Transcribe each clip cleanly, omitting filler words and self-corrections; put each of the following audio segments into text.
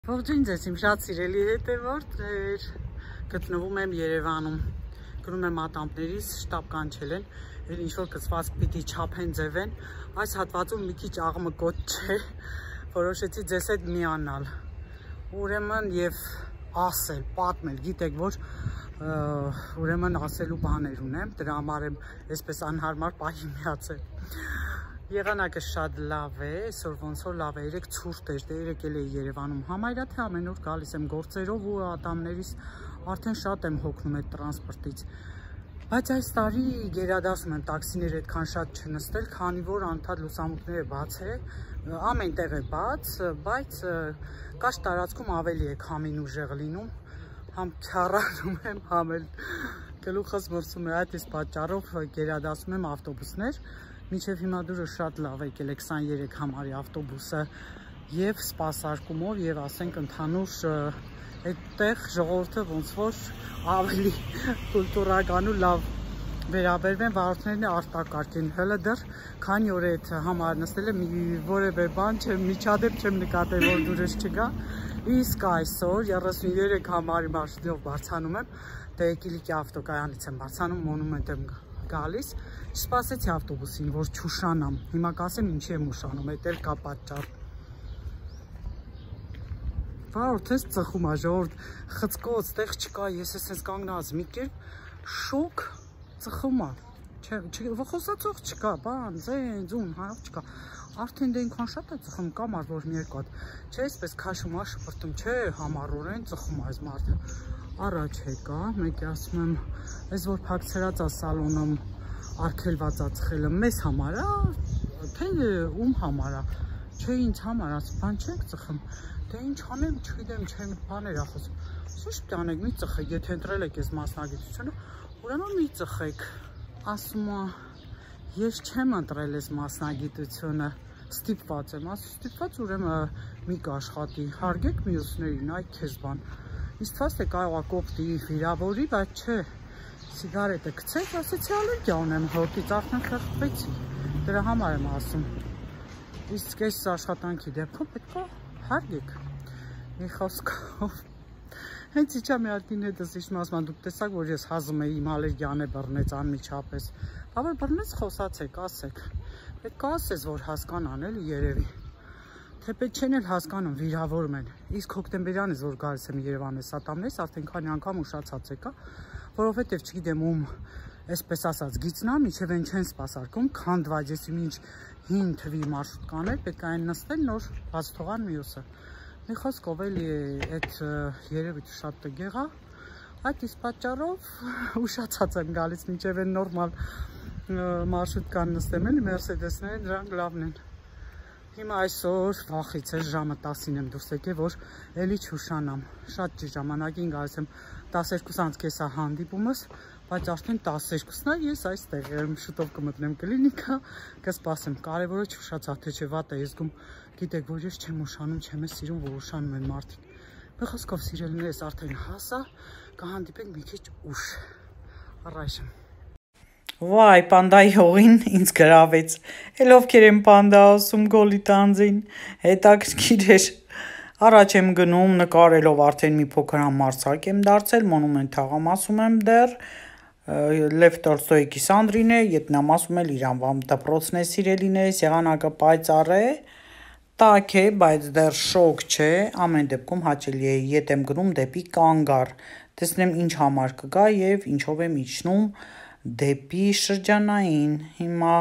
Ողջույն ձեզ իմ շատ սիրելի հետևորդներ, գտնվում եմ Երևանում, գնում եմ ատամներիս, շտապ կանչել են, ինչ-որ կցվածք պիտի չափեն ձևեն, այս հատվածում մի քիչ աղմկոտ չէ, որոշեցի ձեզ հետ միանալ, ուրեմն և ասել, պատմել, գիտեք որ ուրեմն ասելու բաներ ունեմ, դրա համար եմ այսպես անհարմար պահի միացել։ Եղանակը շատ լավ է, այսօր ոնց որ լավ է, երեկ ցուրտ էր, դե երեկ էլ էի Երևանում համարյա թե ամեն օր գալիս եմ գործերով ու ատամներիս արդեն շատ եմ հոգնում այդ տրանսպորտից։ Բայց այս տարի գերադասում եմ տաքսիներ այդքան շատ չնստել, քանի որ անդադ լուսամուտները բաց է, ամեն տեղ է բաց, բայց կարճ տարածքում ավելի է քամին ուժեղ լինում, համ քյառանում եմ, համ էլ գլուխս մրսում է, այդ իսկ պատճառով գերադասում եմ ավտոբուսներ։ Մինչև հիմա դուրը շատ լավ եկել է 23 համարի ավտոբուսը և սպասարկումով և ասենք ընդհանուր այդտեղ ժողովուրդը ոնց որ ավելի կուլտուրական ու լավ վերաբերվեն, վարորդներն արտակարգ են, հələ դեռ քանի օր է այդ համար նստել եմ, որևէ բան չեմ, միջադեպ չեմ նկատել, որ դուրս չգա, իսկ այսօր 33 համարի մարշրուտով բարձրանում եմ, դե Կիլիկի ավտոկայանից եմ բարձրանում, մոնումենտ եմ գալիս, չսպասեցի ավտոբուսին, որ չուշանամ, հիմա կասեմ ինչի եմ ուշանում, այդ էլ կա պատճառ։ Վարորդս ծխում է, ժողովուրդ, խցկոց, տեղ չկա, ես ես կանգնած մի կերպ շոկ ծխում է, խոսացող չկա, բան, ձուն, հարավ չկա, արդեն դե ինքան շատ է ծխում, կամար որ մի երկու հատ, չէ, այսպես քաշում է, շպրտում, չէ, համառորեն ծխում է այս մարդը, առաջ եկա, մեկի ասում եմ, այս որ փակցրած է սալոնում արգելված է ծխելը, մեզ համար է, թե ում համար է, չէ ինձ համար է, բան չենք ծխում, դե ինչ անեմ, չգիտեմ, չեմ բաներ է խոսում, ինչ պիտի անեք, մի ծխեք, եթե ընտրել եք այս մասնագիտությունը, ուրեմն մի ծխեք, ասում է, ես չեմ ընտրել այս մասնագիտությունը, ստիպված եմ, ասում ստիպված ուրեմն մի կաշխատի, հարգեք մյուսներին, այ քեզ բան, ինձ թվաց թե կարող է կոպտի վիրավորի, բայց չէ, սիգարետը գցեք, ասեցի ալերգիա ունեմ հոտից, արդեն խեղդվեցի, դրա համար եմ ասում, իսկ այս աշխատանքի դեպքում պետք է հարգեք, մի խոսքով, հենց իջա մի ատին հետս իշմ ասում, դուք տեսակ, որ ես հազում էի, իմ ալերգիան է բռնեց անմիջապես, բա որ բռնեց խոսացեք, ասեք, պետք է ասես, որ հասկանան էլի երևի, թե պետք չեն էլ հասկանում, վիրավորում են, իսկ հոկտեմբերյանից, որ գալիս եմ Երևան ես ատամներս, արդեն քանի անգամ ուշացած եկա, որովհետև չգիտեմ ում, այսպես ասած, գիծնա, միջև են չեն սպասարկում, քանդված ես ինչ հին թվի մարշրուտ կաներ, պետք է այն նստել, նոր բաց թողան մյուսը, մի խոսքով էլի այդ երևույթը շատ տգեղ է, այդ իսկ պատճառով ուշացած եմ գալիս, միջև են նորմալ մարշրուտ կան նստեմ էլի, մերսեդեսները դրանք լավն են, հիմա այսօր վախից էր ժամը 10-ին եմ դուրս եկել, որ էլի չուշանամ, շատ ճիշտ ժամանակին գալիս եմ 12:30 է հանդիպումս, բայց արդեն 12-ն է, ես այստեղ եմ, շուտով կմտնեմ կլինիկա, կսպասեմ, կարևորը չուշացա, թե չէ վատ է ես զգում, գիտեք, որ ես չեմ ուշանում, չեմ ես սիրում, որ ուշանում են մարդիկ, մի խոսքով սիրելիներս արդեն հասա, կհանդիպենք մի քիչ ուշ, առայժմ։ Վայ, պանդայի հողին ինձ գրավեց, էլ ովքեր են պանդա ասում գոլի տանձին, հետաքրքիր էր, առաջ եմ գնում նկարելով արդեն մի փոքր համարձակ եմ դարձել, մոնումենտ թաղամասում եմ դեռ, Լև Տոլստոյի կիսանդրին է, ետնամասում էլ Իրանվամ դպրոցն է սիրելիներս, եղանակը պայծառ է, տաք է, բայց դեռ շոկ չէ, ամեն դեպքում հաճելի է, ետ եմ գնում դեպի Կանգար, տեսնեմ ինչ համար կգա և ինչով եմ իջնում դեպի շրջանային, հիմա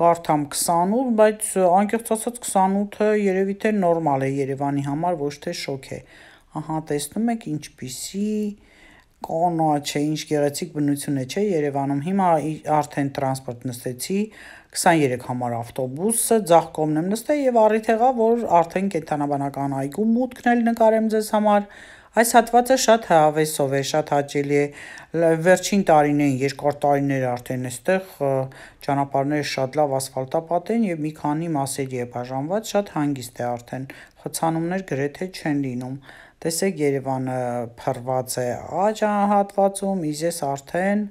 կարդամ 28, բայց անկեղծ ասած 28-ը երևի թե նորմալ է Երևանի համար, ոչ թե շոկ է, ահա տեսնում եք ինչպիսի կանաչ է, ինչ գեղեցիկ բնություն է, չէ Երևանում, հիմա արդեն տրանսպորտ նստեցի, 23 համար ավտոբուսը, ձախ կողմն եմ նստել և առիթ եղա, որ արդեն կենդանաբանական այգու մուտքն էլ նկարեմ ձեզ համար, այս հատվածը շատ հավեսով է, շատ հաճելի է, վերջին տարիներին, երկար տարիներ արդեն այստեղ ճանապարհները շատ լավ ասֆալտապատ են և մի քանի մասերի է բաժանված, շատ հանգիստ է արդեն, խցանումներ գրեթե չեն լինում, տեսեք Երևանը փռված է աջ հատվածում, իսկ ես արդեն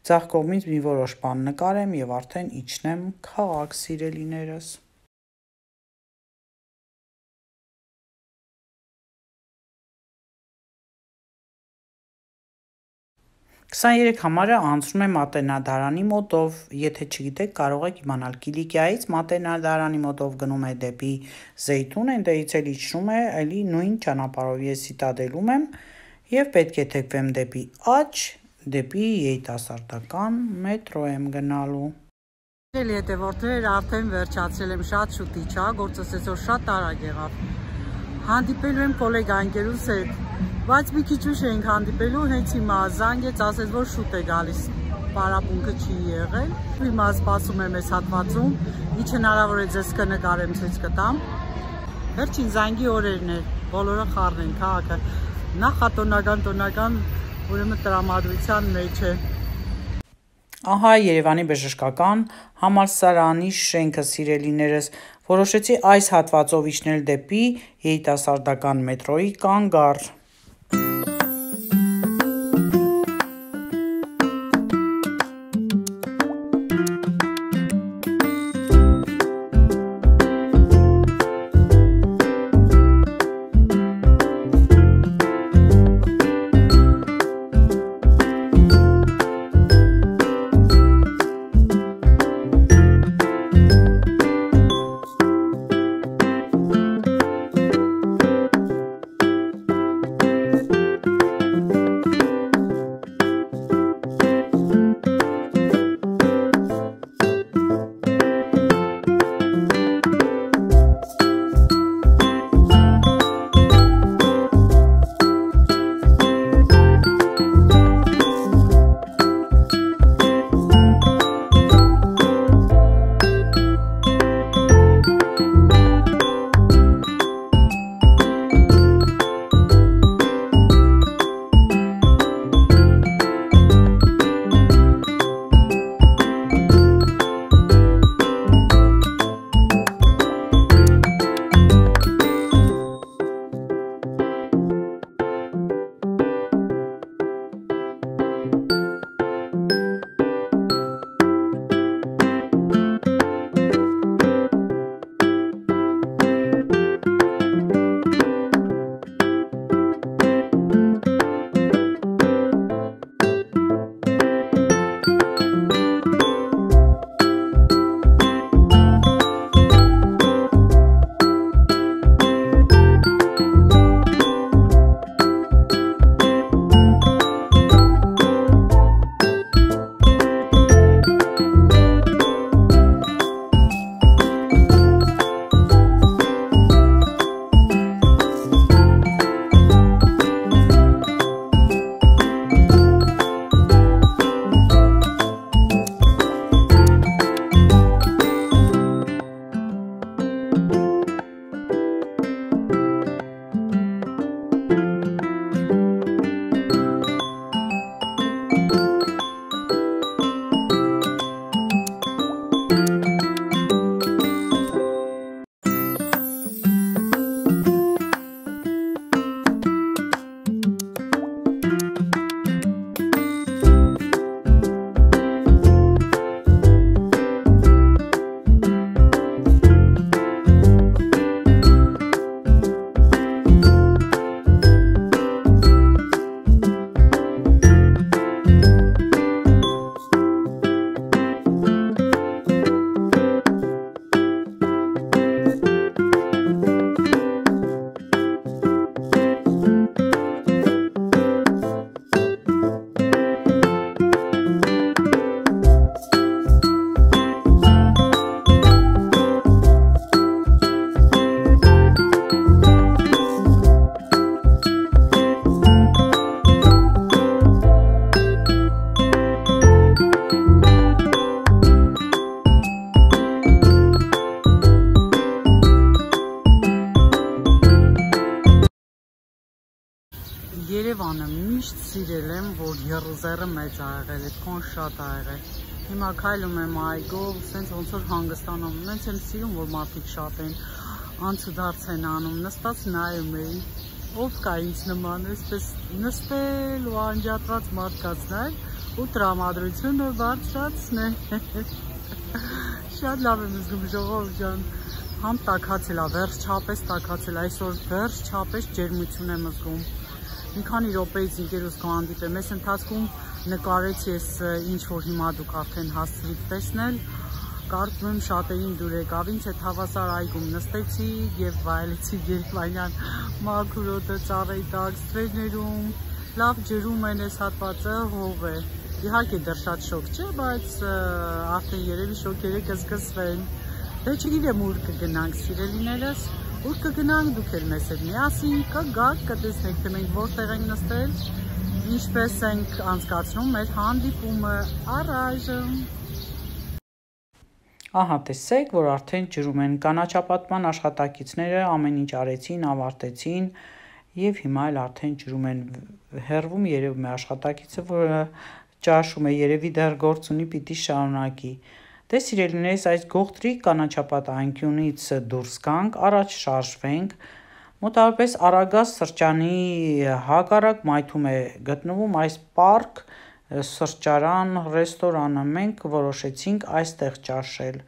ձախ կողմից մի որոշ բան նկարեմ և արդեն իջնեմ քաղաք սիրելիներս։ 23 համարը անցնում է Մատենադարանի մոտով, եթե չգիտեք կարող եք իմանալ, Կիլիկիայից Մատենադարանի մոտով գնում է դեպի Զեյթուն, այնտեղից էլ իջնում է էլի նույն ճանապարհով, ես Սիտադելում եմ եւ պետք է թեքվեմ դեպի Աջ, դեպի երիտասարդական մետրո եմ գնալու։ Հետևորդներ արդեն վերջացել եմ, շատ շուտ իջա, գործս այսօր շատ արագ եղավ։ Հանդիպելու եմ գոլեգա ընկերուս հետ, բայց մի քիչ ուշ էինք հանդիպելու, հենց հիմա զանգեց, ասեց, որ շուտ է գալիս, պարապմունքը չի եղել։ Հիմա սպասում եմ այս հատվածում, ինչ հնարավոր է ձեզ կնկարեմ, ցույց կտամ։ Վերջին զանգի օրերն էր, բոլորը խառն են, քաղաքը նախատոնական, ուրեմն տրամադրության մեջ է։ Ահա Երևանի բժշկական համալսարանի շենքը, սիրելիներս, որոշեցի այս հատվածով իջնել դեպի երիտասարդական մետրոյի կանգառ։ Երևանը միշտ սիրել եմ, որ եռուզեռը մեծ ա եղել, այդքան շատ ա եղել։ Հիմա քայլում եմ այգով, սենց ոնց որ հանգստանում, նենց եմ սիրում, որ մարդիկ շատ են, անցուդարձ են անում, նստած նայում էի, ով կա ինձ նման, այսպես նստել ու անջատված մարդկացնել ու տրամադրությունը բարձրացնել։ Շատ լավ եմ զգում, ժողովուրդ ջան, համ տաքացել ա, վերջապես տաքացել, այսօր վերջապես ջերմություն եմ զգում։ Մի քանի րոպեից ինքերուս կհանդիպեմ, այս ընթացքում նկարեցի ես ինչ որ հիմա դուք արդեն հասցրիք տեսնել, կարծում եմ շատերին դուր եկավ, ինձ հետ հավասար այգում նստեցի եւ վայելեցի Գերմանյան մաքուր օդը ծառերի տակ, ստվերներում, լավ ջրում են այս հատվածը, հող է։ Իհարկե դեռ շատ շոկ չէ, բայց արդեն երևի շոկերը կզգզվեն։ Դե չգիտեմ ուր կգնանք սիրելիներս, ուր կգնանք դուք էլ մեզ հետ միասին կգաք, կտեսնեք թե մենք որտեղ ենք նստել, ինչպես ենք անցկացնում մեր հանդիպումը առայժմ։ Ահա տեսեք, որ արդեն ջրում են կանաչապատման աշխատակիցները, ամեն ինչ արեցին, ավարտեցին եւ հիմա էլ արդեն ջրում են, հեռվում երևում է աշխատակիցը, որը ճաշում է, երևի դեռ գործ ունի, պիտի շարունակի։ Դե սիրելիներս, այս գողտրիկ կանաչապատ անկյունից դուրս գանք, առաջ շարժվենք, մոտավորապես Արագած սրճանի հակառակ մայթում է գտնվում այս պարկ սրճարան, ռեստորանը, մենք որոշեցինք այստեղ ճաշել։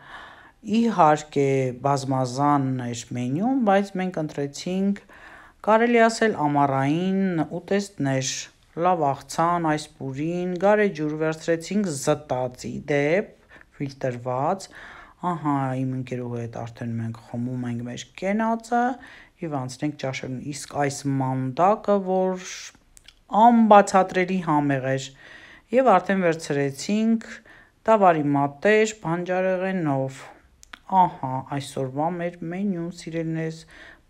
Իհարկե բազմազան էր մենյուն, բայց մենք ընտրեցինք, կարելի ասել ամառային ուտեստներ, լավ աղցան, այս պուրին, գարեջուր վերցրեցինք զտածի դեպ, ֆիլտրված, ահա իմ ընկերուհու հետ արդեն մենք խմում ենք մեր կենացը եւ անցնենք ճաշելուն, իսկ այս մանդակը, որ անբացատրելի համեղ էր, եւ արդեն վերցրեցինք տավարի մատեր բանջարեղենով, ահա այսօրվա մեր մենյուն սիրելիներս,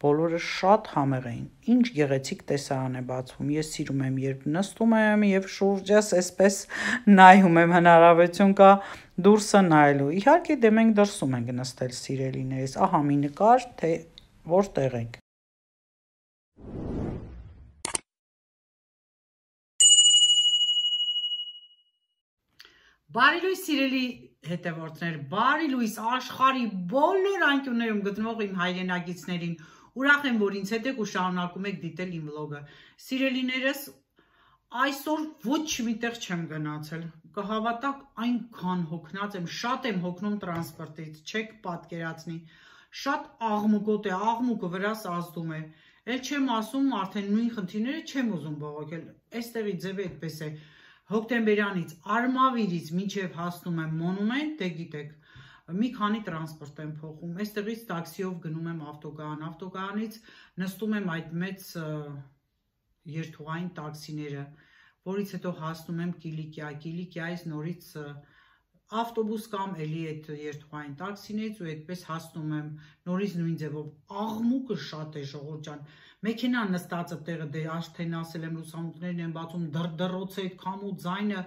բոլորը շատ համեղ էին, ինչ գեղեցիկ տեսարան է բացվում, ես սիրում եմ երբ նստում եմ եւ շուրջս այսպես նայում եմ, հնարավորություն կա դուրսը նայելու, իհարկե դե մենք դրսում ենք նստել սիրելիներս, ահա մի նկար, թե որտեղ ենք։ Բարի լույս սիրելի հետևորդներ, բարի լույս աշխարհի բոլոր անկյուններում գտնվող իմ հայրենակիցներին, ուրախ եմ, որ ինձ հետ եք ու շարունակում եք դիտել իմ վլոգը։ Սիրելիներս, այսօր ոչ միտեղ չեմ գնացել, կհավատաք այնքան հոգնած եմ, շատ եմ հոգնում տրանսպորտից, չեք պատկերացնի, շատ աղմուկոտ է, աղմուկը վրաս ազդում է, էլ չեմ ասում արդեն նույն խնդիրները չեմ ուզում բողոքել, այստեղի ձևը այդպես է, հոկտեմբերյանից, Արմավիրից մինչև հասնում եմ Մոնումենտ, դե գիտեք, մի քանի տրանսպորտ եմ փոխում, այստեղից տաքսիով գնում եմ ավտոկայան, ավտոկայանից նստում եմ այդ մեծ երթուղային տաքսիները, որից հետո հասնում եմ Կիլիկիա, Կիլիկիայից նորից ավտոբուս կամ էլի այդ երթուղային տաքսիներից ու այդպես հասնում եմ նորից նույն ձևով, աղմուկը շատ է ժողովուրդ ջան, մեքենան նստածը տեղը դե արդեն ասել եմ լուսամուտներն են բացում, դրդռոց է, քամու ձայնը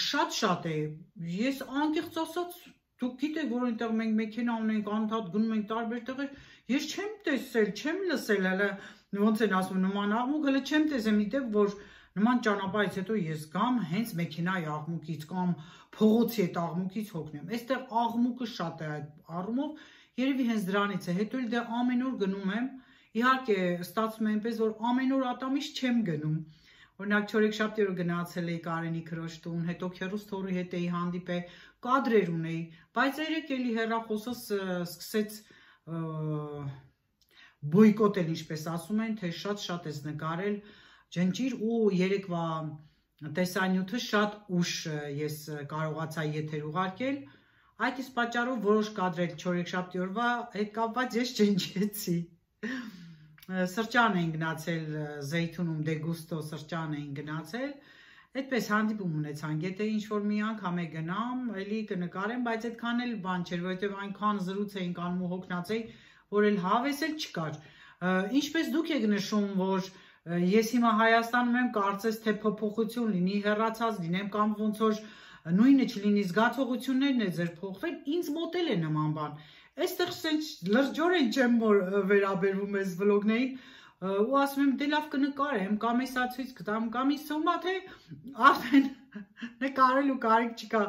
շատ է, ես անկեղծ ասած, դուք գիտեք, որ այնտեղ մենք մեքենա ունենք, անընդհատ գնում ենք տարբեր տեղեր, ես չեմ տեսել, չեմ լսել, հələ ոնց են ասում, նման աղմուկ, հələ չեմ տեսել, միտեղ, որ նման ճանապարհից հետո ես գամ հենց մեքենայի աղմուկից կամ փողոցի այդ աղմուկից հոգնեմ, այստեղ աղմուկը շատ է այդ առումով, երևի հենց դրանից է, հետո էլ դե ամեն օր գնում եմ, իհարկե ստացվում է այնպես, որ ամեն օր ատամից չեմ գնում, օրինակ չորեքշաբթի օրը գնացել էի Կարենի քրոջ տուն, հետո քեռուս թորի հետ էի հանդիպել, կադրեր ունեի, բայց երեք էլի հեռախոսս սկսեց բոյկոտել, ինչպես ասում են, թե շատ ես նկարել, ջնջիր ու երեկվա տեսանյութը շատ ուշ ես կարողացա եթեր ուղարկել, այդ իսկ պատճառով որոշ կադրեր չորեքշաբթի օրվա հետ կապված ես ջնջեցի, սրճան էին գնացել Զեյթունում, Դեգուստո սրճան էին գնացել, այդպես հանդիպում ունեցանք, եթե ինչ-որ մի անգամ է գնամ, էլի կնկարեմ, բայց այդքան էլ բան չէր, որովհետև այնքան զրույց էինք անում ու հոգնած էի, որ էլ հավես էլ չկար, ինչպես դուք եք նշում, որ ես հիմա Հայաստանում եմ, կարծես թե փոփոխություն լինի, հեռացած լինեմ կամ ոնց որ նույնը չլինի, զգացողություններն է ձեր փոխվել, ինձ մոտ էլ է նման բան, այստեղ սենց լրջորեն չեմ վերաբերվում ես վլոգներին ու ասում եմ դե լավ կնկարեմ, կամ էսա ցույց կտամ, կամ իսումա թե արդեն նկարելու կարիք չկա,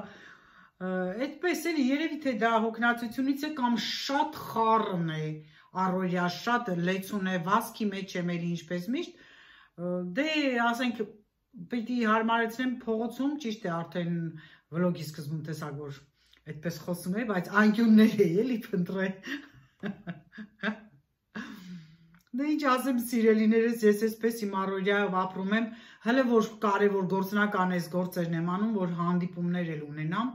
այդպես էլի երևի թե դա հոգնածությունից է կամ շատ խառն է, առօրյա շատ լեցուն է, վազքի մեջ եմ էլի ինչպես միշտ, դե ասենք պիտի հարմարեցնեմ փողոցում, ճիշտ է արդեն վլոգի սկզբում տեսակ որ այդպես խոսում է, բայց անկյուններ է էլի փնտրել, Դե ինչ ասեմ սիրելիներս, ես այսպես իմ առօրյայով ապրում եմ, հələ որ կարևոր գործնական այս գործերն եմ անում, որ հանդիպումներ էլ ունենամ։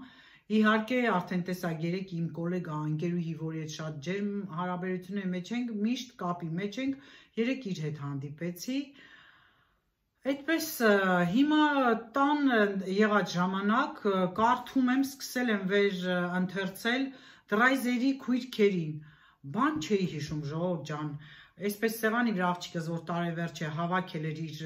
Իհարկե, արդեն տեսակ երեք իմ գոլեգա ընկերուհի, որի հետ շատ ջերմ հարաբերությունների մեջ ենք, միշտ կապի մեջ ենք, երեք իր հետ հանդիպեցի։ Այդպես հիմա տան եղած ժամանակ կարդում եմ, սկսել եմ վեր ընթերցել Դրայզերի քույրքերին։ Բան չէի հիշում, ժողովուրդ ջան, այսպես սեղանի վրա աղջիկս, որ տարեվերջ է հավաքել էր իր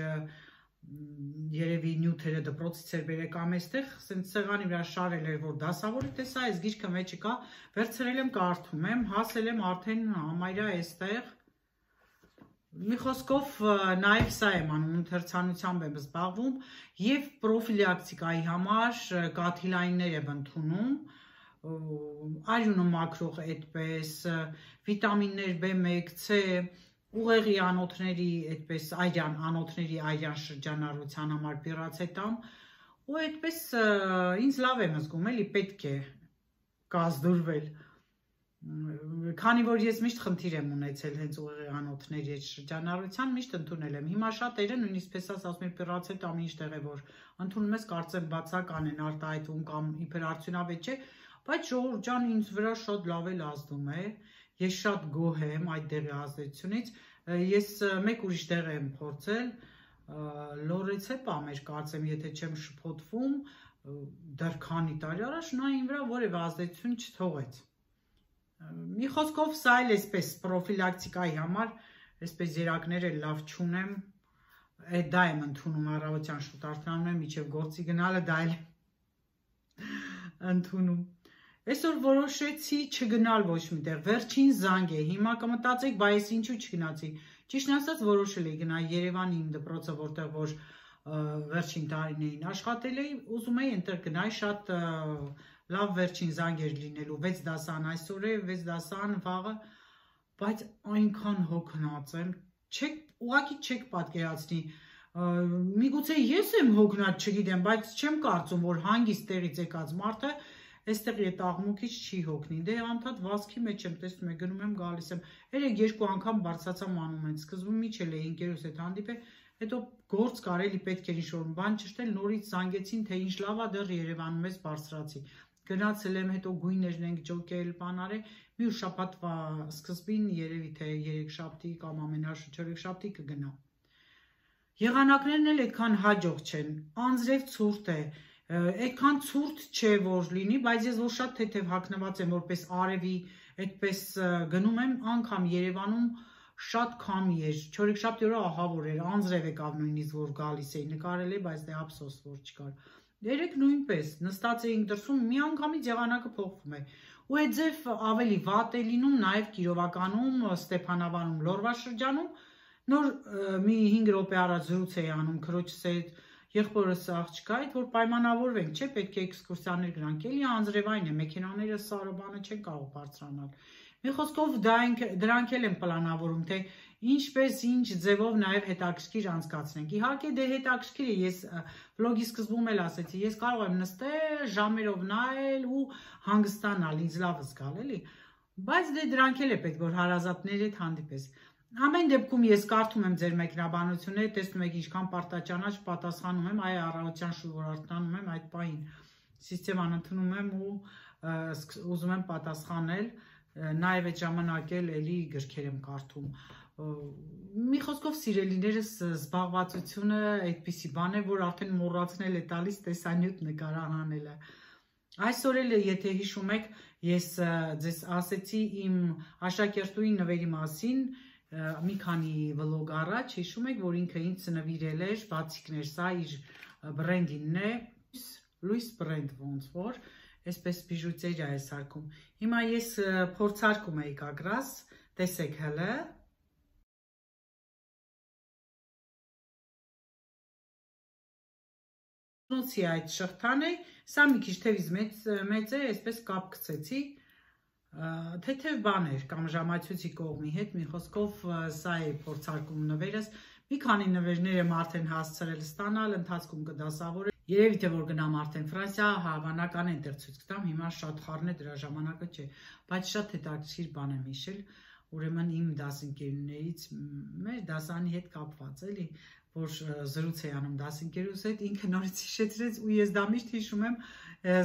երևի նյութերը դպրոցից էր բերեք ամեստեղ, ասենց սեղանի վրա շարել էր, որ դասավորի, տեսա այս գիրքը մեջը կա, վերցրել եմ կարդում եմ, հասել եմ արդեն համարյա այստեղ։ Մի խոսքով նաև սա եմ անում, ընթերցանությամբ եմ զբաղվում և պրոֆիլակտիկայի համար կաթիլայիններ եմ ընդունում, արյունը մաքրող այդպես, վիտամիններ B1, C, ուղեղի անոթների այդպես անոթների այրան շրջանառության համար պիրացետամ, ու այդպես ինձ լավ եմ զգում, էլի պետք է կազդուրվել, քանի որ ես միշտ խնդիր եմ ունեցել հենց ուղեղի անոթների այդ շրջանառության, միշտ ընդունել եմ, հիմա շատերը նույնիսկ պես ասում են պիրացետամ ինչ տեղ է, որ ընդունում ես, կարծեմ բացական են արտահայտվում կամ իբր արդյունավետ չէ, բայց ժողովուրդ ջան ինձ վրա շատ լավ էլ ազդում է, ես շատ գոհ եմ այդ դեղի ազդեցությունից, ես մեկ ուրիշ դեղ եմ փորձել, լորեցեպա մեր կարծեմ, եթե չեմ շփոթվում, դեռ քանի տարի առաջ նա իմ վրա որևէ ազդեցություն չթողեց։ Մի խոսքով սա էլ այսպես պրոֆիլակտիկայի համար, այսպես երակներ էլ լավ չունեմ, դա եմ ընդունում առավոտյան շուտ արթնանում եմ, մինչև գործի գնալը դա էլ ընդունում։ Այսօր որոշեցի չգնալ ոչ միտեղ, վերջին զանգ է, հիմա կմտածեք, բա ես ինչու չգնացի, ճիշտն ասած որոշել էի գնալ Երևանի իմ դպրոցը, որտեղ որ վերջին տարիներին աշխատել էի, ուզում էի այնտեղ գնալ, շատ լավ վերջին զանգ էր լինելու, 6 դասան այսօր է, 6 դասան վաղը, բայց այնքան հոգնած եմ, ուղղակի չեք պատկերացնի, միգուցե ես եմ հոգնած, չգիտեմ, բայց չեմ կարծում, որ հանգիստ տեղից եկած մարդը այստեղի այդ աղմուկից չի հոգնի, դե անդադ վազքի մեջ եմ տեսնում եմ, գնում եմ, գալիս եմ, երեք երկու անգամ բարձրացա մանումենտ, սկզբում միջել էի ընկերուս հետ հանդիպել, հետո գործ կար էլի պետք էր ինչ-որ բան ճշտել, նորից զանգեցին, թե ինչ լավ է դեռ Երևանում ես բարձրացի, գնացել եմ, հետո գույներն ենք ջոկել, բան արել, մի ուր շաբաթվա սկզբին երևի թե երեքշաբթի կամ ամենաշուտ չորեքշաբթի կգնամ։ Եղանակներն էլ այդքան հաջող չեն, անձրև ցուրտ է, այդքան ցուրտ չէ որ լինի, բայց ես որ շատ թեթև հագնված եմ որպես արևի, այդպես գնում եմ, անգամ Երևանում շատ քամի էր, չորեքշաբթի օրը ահավոր էր, անձրև եկավ նույնիսկ որ գալիս էի, նկարել էի, բայց դե ափսոս որ չկար։ Երեք նույնպես նստած էինք դրսում, մի անգամից եղանակը փոխվում է։ Ու այդ ձև ավելի վատ է լինում նաև Կիրովականում, Ստեփանավարում, Լոռվա շրջանում, նոր մի 5 րոպե առաջ զրույց էի անում քրոջս հետ, եղբորս աղջկա հետ, որ պայմանավորվենք, չէ, պետք է էքսկուրսիաներ գնանք, էլի անձրևային է, մեքենաները սարը բանը չեն կարող բարձրանալ։ Մի խոսքով դրանք էլ են պլանավորում, թե ինչպես, ինչ ձևով նաև հետաքրքիր անցկացնենք։ Իհարկե դե հետաքրքիր է, ես վլոգի սկզբում էլ ասեցի, ես կարող եմ նստել, ժամերով նայել ու հանգստանալ, ինձ լավ զգալ, էլի։ Բայց դե դրանք էլ է պետք, որ հարազատների հետ հանդիպես։ Ամեն դեպքում ես կարդում եմ ձեր մեկնաբանությունները, տեսնում եք ինչքան պարտաճանաչ պատասխանում եմ, այ առավոտյան շուտ որ արթնանում եմ, այդ պահին սիստեման ընդունում եմ ու ուզում եմ պատասխանել, նաև այդ ժամանակ էլ էլի գրքեր եմ կարդում։ Մի խոսքով սիրելիներս զբաղվածությունը այդպիսի բան է, որ արդեն մոռացնել է տալիս տեսանյութ նկարահանելը։ Այսօր էլ եթե հիշում եք, ես ձեզ ասեցի իմ աշակերտուի նվերի մասին, մի քանի վլոգ առաջ, հիշում եք, որ ինքը ինձ նվիրել էր, բացիկներ, սա իր բրենդինն է, լույս բրենդ ոնց որ, այսպես բիժուտերիա է սարքում։ Հիմա ես փորձարկում էի կագրաս, տեսեք հələ։ Նոցի այդ շղթան է, սա մի քիչ թևից մեծ է, այսպես կապ գցեցի, թեթև բաներ կամ ժամացույցի կողմի հետ, մի խոսքով սա է փորձարկում նվերս, մի քանի նվերներ եմ արդեն հասցրել ստանալ, ընթացքում կդասավորել, երևի թե որ գնամ արդեն Ֆրանսիա, հավանական է այնտեղ ցույց կտամ, հիմա շատ խառն է դրա ժամանակը չէ, բայց շատ հետաքրքիր բան եմ հիշել, ուրեմն իմ դասընկերներից մեր դասանի հետ կապված էլի, որ զրույց է անում դասընկերուս հետ, ինքը նորից հիշեցրեց ու ես դա միշտ հիշում եմ,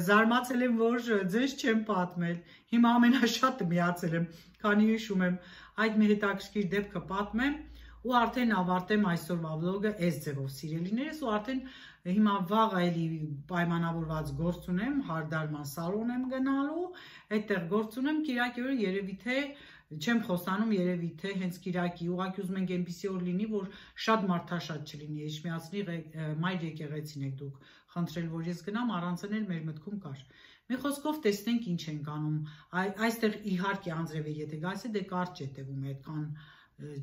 զարմացել եմ, որ ձեզ չեմ պատմել, հիմա ամենաշատը միացել եմ, քանի հիշում եմ, այդ մի հետաքրքիր դեպքը պատմեմ ու արդեն ավարտեմ այսօրվա վլոգը այս ձևով սիրելիներս ու արդեն հիմա վաղ էլի պայմանավորված գործ ունեմ, հարդարման սալոն եմ գնալու, այդտեղ գործ ունեմ, կիրակի օրը երևի թե չեմ խոսանում, երևի թե հենց կիրակի, ուղղակի ուզում ենք այնպիսի օր լինի, որ շատ մարդաշատ չլինի, Էջմիածնի մայր եկեղեցին եք դուք խնդրել, որ ես գնամ, առանցն էլ մեր մտքում կար։ Մի խոսքով տեսնենք ինչ ենք անում, այստեղ իհարկե անձրև է, եթե գայս է, դե կարճ է տևում, այդքան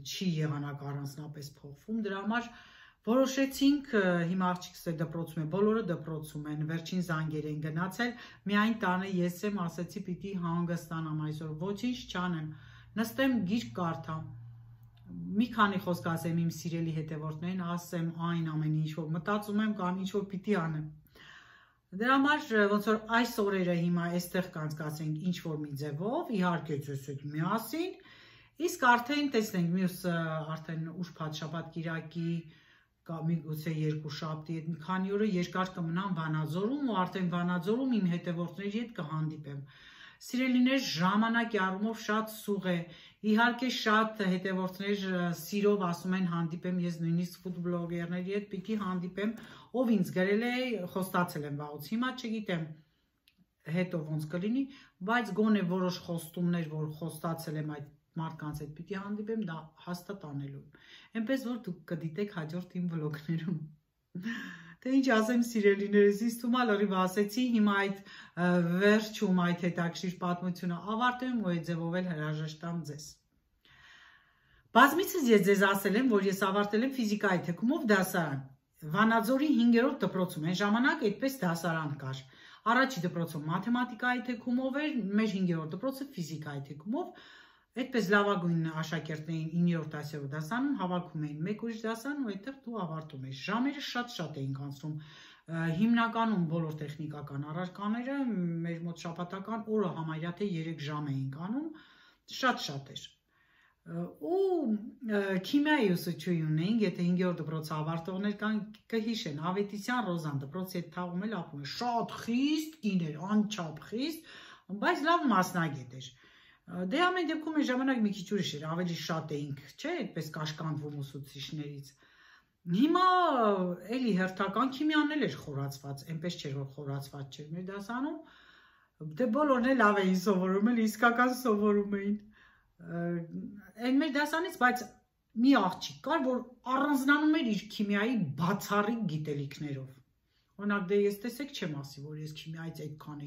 չի եղանակ առանձնապես փոխվում, դրա համար որոշեցինք, հիմա աղջիկս դպրոցում է, բոլորը դպրոցում են, վերջին զանգեր են գնացել, միայն տանը ես եմ, ասեցի պիտի հանգստանամ այսօր, ոչինչ չանեմ, նստեմ գիրք կարդամ, մի քանի խոսք ասեմ իմ սիրելի հետևորդներին, ասեմ այն ամեն ինչ որ մտածում եմ կամ ինչ որ պիտի անեմ։ Դրա համար ոնց որ այս օրերը հիմա այստեղ կանցկացենք ինչ որ մի ձևով, իհարկե ձեզ հետ միասին, իսկ արդեն տեսնենք մյուս արդեն ուրբաթ շաբաթ կիրակի միգուցե երկու շաբթի հետ մի քանի օրը երկար կմնամ Վանաձորում ու արդեն Վանաձորում իմ հետևորդների հետ կհանդիպեմ։ Սիրելիներ, ժամանակի առումով շատ սուղ է, իհարկե շատ հետևորդներ սիրով ասում են հանդիպեմ, ես նույնիսկ ֆուդբլոգերների հետ պիտի հանդիպեմ, ով ինձ գրել է, խոստացել եմ վաղուց, հիմա չգիտեմ հետո ոնց կլինի, բայց գոնե որոշ խոստումներ, որ խոստացել եմ այդ մարդկանց հետ պիտի հանդիպեմ, դա հաստատ անելու եմ, այնպես որ դուք կդիտեք հաջորդ իմ վլոգներում։ Թե ինչ ասեմ սիրելիներս, ինձ թվում է լրիվ ասեցի, հիմա այդ վերջում այդ հետաքրքիր պատմությունը ավարտեմ ու այդ ձևով էլ հրաժեշտամ ձեզ։ Բազմիցս ես ձեզ ասել եմ, որ ես ավարտել եմ ֆիզիկայի թեկումով դասարան։ Վանաձորի 5-րդ դպրոցում այն ժամանակ այդպես դասարան կար։ Առաջի դպրոցում մաթեմատիկայի թեկումով էր, մեր 5-րդ դպրոցը ֆիզիկայի թեկումով։ Այդպես լավագույն աշակերտներին 9-րդ 10-րդ դասանում հավաքում էին մեկ ուրիշ դասան ու այդտեղ դու ավարտում ես։ Ժամերը շատ էին անցնում։ Հիմնականում բոլոր տեխնիկական առարկաները մեր մոտ շաբաթական օրը համարյա թե 3 ժամ էին անում, շատ էր։ Ու քիմիայի ուսուցչուհի ունեինք, եթե 5-րդ դպրոցը ավարտողներ կան, կհիշեն, Ավետիսյան Ռոզան դպրոցի հետ թաղում էլ ապրում է, շատ խիստ կին էր, անչափ խիստ, բայց լավ մասնագետ էր։ Դե ամեն դեպքում այն ժամանակ մի քիչ ուրիշ էր, ավելի շատ էինք, չէ, այդպես կաշկանդվում ուսուցիչներից։ Հիմա էլի հերթական քիմիան էլ էր խորացված, այնպես չէր որ խորացված չէր մեր դասանում, դե բոլորն էլ լավ էին սովորում, էլ իսկական սովորում էին։ Այն մեր դասանից, բայց մի աղջիկ կար, որ առանձնանում էր իր քիմիայի բացառիկ գիտելիքներով։ Օրինակ դե ես տեսեք չեմ ասի, որ ես քիմիայից այդքան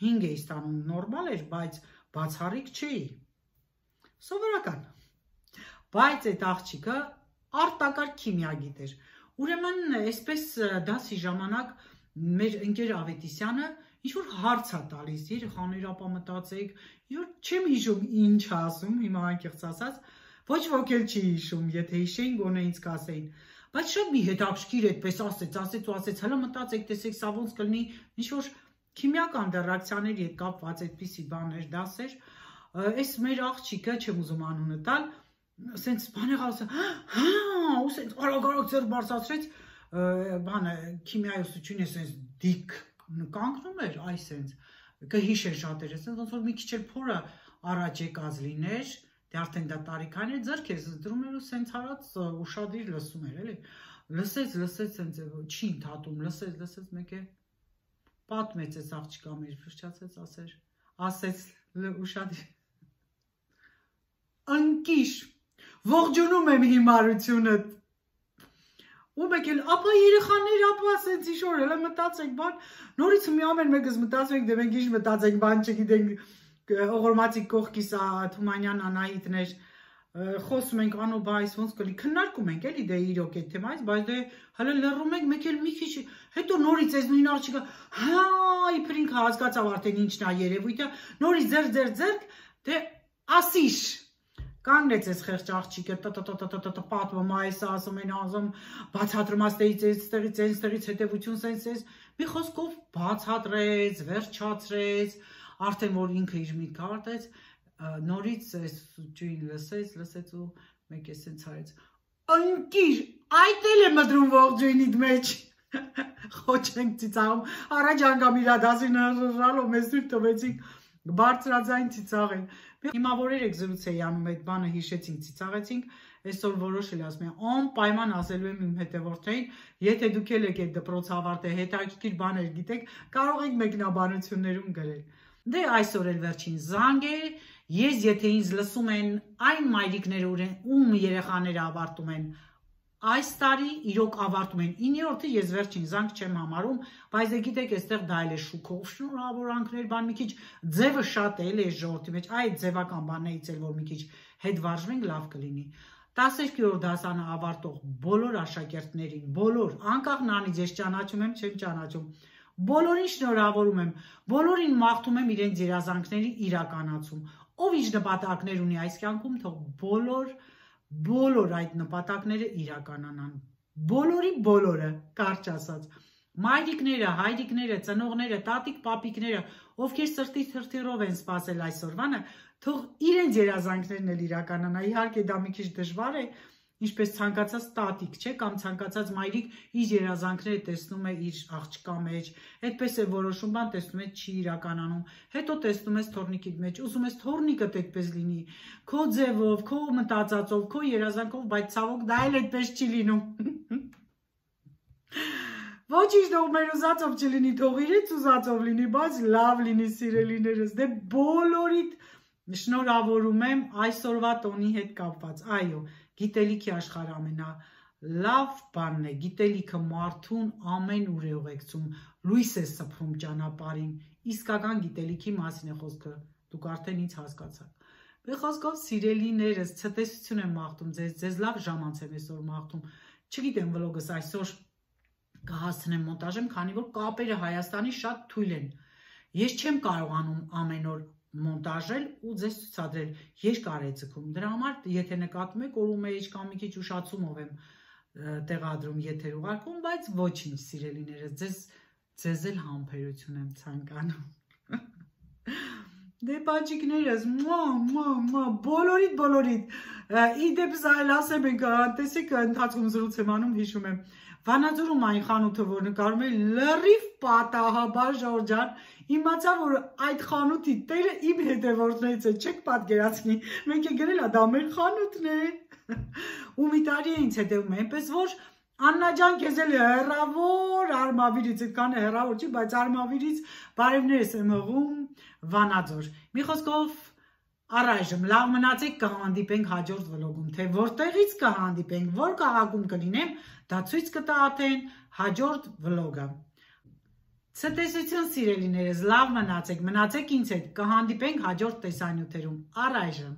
5 էի ստանում, նորմալ էր, բայց բացառիկ չէի, սովորական, բայց այդ աղջիկը արտակարգ քիմիա գիտեր, ուրեմն այսպես դասի ժամանակ մեր ընկեր Ավետիսյանը ինչ-որ հարց է տալիս, երեխաներ ապա մտածեք, չեմ հիշում ինչ ասում, հիմա անկեղծ ասած, ոչ ոք էլ չի հիշում, եթե հիշեին գոնե ինձ կասեին, բայց շատ մի հետաքրքիր այդպես ասեց, հələ մտածեք, տեսեք, սա ոնց կլինի, ինչ-որ քիմիական ռեակցիաների հետ կապված այդպիսի բաներ դասեր, այս մեր աղջիկը, չեմ ուզում անունը տալ, սենց բաներ ասել, ու սենց արագ ձեռք բարձրացրեց, բանը քիմիայի ուսուցչուհին սենց դիկ կանգնում էր, այ սենց կհիշեն շատերը, սենց ոնց որ մի քիչ էլ փորը առաջ եկած լիներ, դե արդեն դա տարիքային էր, ձեռքերս դրում էր ու սենց հարած ուշադիր լսում էր, էլի, լսեց սենց չի ընդհատում, լսեց մեկ է պատմեց այս աղջիկա մեր ֆրշացեց, ասեց ուշադիր, ընկիշ, ողջունում եմ հիմարությունըտ, ու մեկ էլ, ապա երեխաներ, ապա ասենց իշոր, հելը մտածենք բան, նորից մի ամեն մեկս մտածենք, դե մենք ինչ մտածենք բան չգիտենք, օղորմացի կողքիս Թումանյան Անահիտներ, խոսում ենք անո բայս ոնց կլի, քննարկում ենք էլի դե իրոք այդ թեմայից, բայց դե հələ լռում ենք, մեկ էլ մի քիչ, հետո նորից այս նույն աղջիկը, հա, իբր ինքը հասկացավ արդեն ինչն է երևույթը, նորից ձեռք, դե ասիշ, կանգնեց այս խեղճ աղջիկը, պատմում այս ասում են ազում, բացատրում այստեղից հետևություն սենց, մի խոսքով բացատրեց, վերջացրեց, արդեն որ ինքը իր միտքը արտեց, նորից այս ջույն լսեց ու մեկ է սենց արեց ընկիր, այդ էլ է մտրում ողջույնիդ մեջ խոչենք ծիծաղում առաջ անգամ իրա դասին հրռալով մեզ դուր տվեցինք բարձրաձայն ծիծաղել հիմա որ երեք զրույց էի անում այդ բանը հիշեցինք ծիծաղեցինք այսօր որոշել ասում եմ անպայման ասելու եմ իմ հետևորդներին եթե դուք եք այդ դպրոց ավարտել հետաքրքիր բաներ գիտեք կարող եք մեկնաբանություններում գրել դե այսօր էլ վերջին զանգ է ես եթե ինձ լսում են այն մայրիկները ում երեխաները ավարտում են այս տարի իրոք ավարտում են 9-րդը ես վերջին զանգ չեմ համարում բայց դե գիտեք այստեղ դա էլ է շուքով շնորհավորանքներ բան մի քիչ ձևը շատ է էլի այս ժողովրդի մեջ այդ ձևական բաններից էլ որ մի քիչ հետ վարժվենք լավ կլինի 12-րդ դասանը ավարտող բոլոր աշակերտներին բոլոր անկախ նրանից ես ճանաչում եմ չեմ ճանաչում բոլորին շնորհավորում եմ բոլորին մաղթում եմ իրենց երազանքների իրականացում ով ինչ նպատակներ ունի այս կյանքում թող բոլոր այդ նպատակները իրականանան բոլորը կարճ ասած մայրիկները, հայրիկները, ծնողները, տատիկ, պապիկները, ովքեր սրտի թրթիռով են սպասել այսօրվանը, թող իրենց երազանքներն էլ իրականանա, իհարկե դա մի քիչ դժվար է, ինչպես ցանկացած տատիկ, չէ, կամ ցանկացած մայրիկ իր երազանքները տեսնում է իր աղջկա մեջ, այդպես է որոշում բան տեսնում է չի իրականանում, հետո տեսնում ես թորնիկիդ մեջ, ուզում ես թորնիկդ այդպես լինի, քո ձևով, քո մտածածով, քո երազանքով, բայց ցավոք դա էլ այդպես չի լինում։ Ոչինչ թող մեր ուզածով չլինի, թող իրենց ուզածով լինի, բայց լավ լինի սիրելիներս, դե բոլորիդ շնորհավորում եմ այսօրվա տոնի հետ կապված, այո, գիտելիքի աշխարհը ամենալավ բանն է, գիտելիքը մարդուն ամեն ուր է ուղեկցում, լույս է սփռում ճանապարհին, իսկական գիտելիքի մասին է խոսքը, դուք արդեն ինձ հասկացաք։ Բե խոսքով սիրելիներս, ցտեսություն եմ մաղթում ձեզ լավ ժամանց եմ այսօր մաղթում, չգիտեմ վլոգս այսօր կհասցնեմ մոնտաժեմ, քանի որ կապերը Հայաստանի շատ թույլ են։ Ես չեմ կարողանում ամեն օր մոնտաժել ու ձեզ ցուցադրել երկար է ձգում։ Դրա համար, եթե նկատում եք, օրում մեջ կամ մի քիչ ուշացումով եմ տեղադրում եթեր ուղարկում, բայց ոչինչ սիրելիներս, ձեզ էլ համբերություն եմ ցանկանում։ Դե բաճիկներս, բոլորիդ, իդեպ զայլ ասեմ ենք, տեսեք ընթացքում զրույց եմ անում, հիշում եմ, Վանաձորում այն խանութը, որ նկարում է լրիվ պատահաբար Ժորժան, իմացա, որ այդ խանութի տերը իմ հետևորդներից է, չեք պատկերացնի, մենք է գրել դա մեր խանութն է, ու մի տարի է ինձ հետևում, այնպես որ Աննա ջան, քեզ էլ հեռավոր Արմավիրից, այդքան հեռավոր չի, բայց Արմավիրից բարևներս եմ հղում Վանաձոր։ Մի խոսքով առայժմ լավ մնացեք, կհանդիպենք հաջորդ վլոգում, թե որտեղից կհանդիպենք, որ քաղաքում կլինեմ, դա ցույց կտա արդեն հաջորդ վլոգը։ Ցտեսություն սիրելիներս, լավ մնացեք ինձ հետ, կհանդիպենք հաջորդ տեսանյութերում, առայժմ։